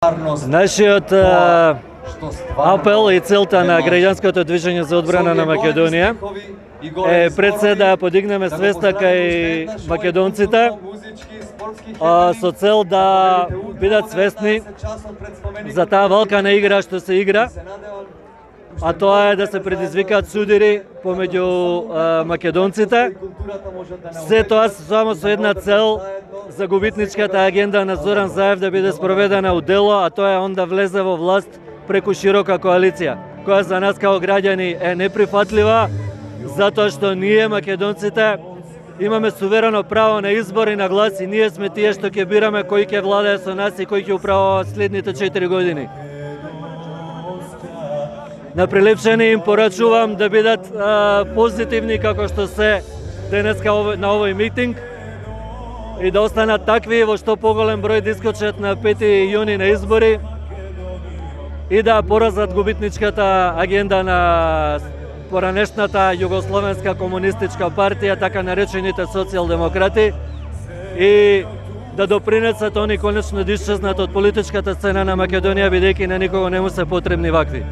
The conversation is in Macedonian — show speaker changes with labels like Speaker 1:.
Speaker 1: Нашиот апел и целта на граѓанското движење за одбрана на Македонија е пред се да подигнеме свеста кај македонците со цел да бидат свесни за таа валкана игра што се игра, а тоа е да се предизвикаат судири помеѓу македонците. Се тоа само со една цел, за губитничката агенда на Зоран Заев да биде спроведена у дело, а тоа е он да влезе во власт преку широка коалиција, која за нас како граѓани е неприфатлива, затоа што ние македонците имаме суверено право на избор и на глас и ние сме тие што ќе бираме кој ќе владее со нас и кој ќе управува следните 4 години. На Прилепчани им порачувам да бидат позитивни како што се денеска на овој митинг и да останат такви во што поголем број да искочат на 5 јуни на избори и да поразат губитничката агенда на поранешната Југословенска комунистичка партија, така наречените социјалдемократи, и да допринесат они конечно да исчезнат од политичката сцена на Македонија, бидејќи на никого не му се потребни вакви.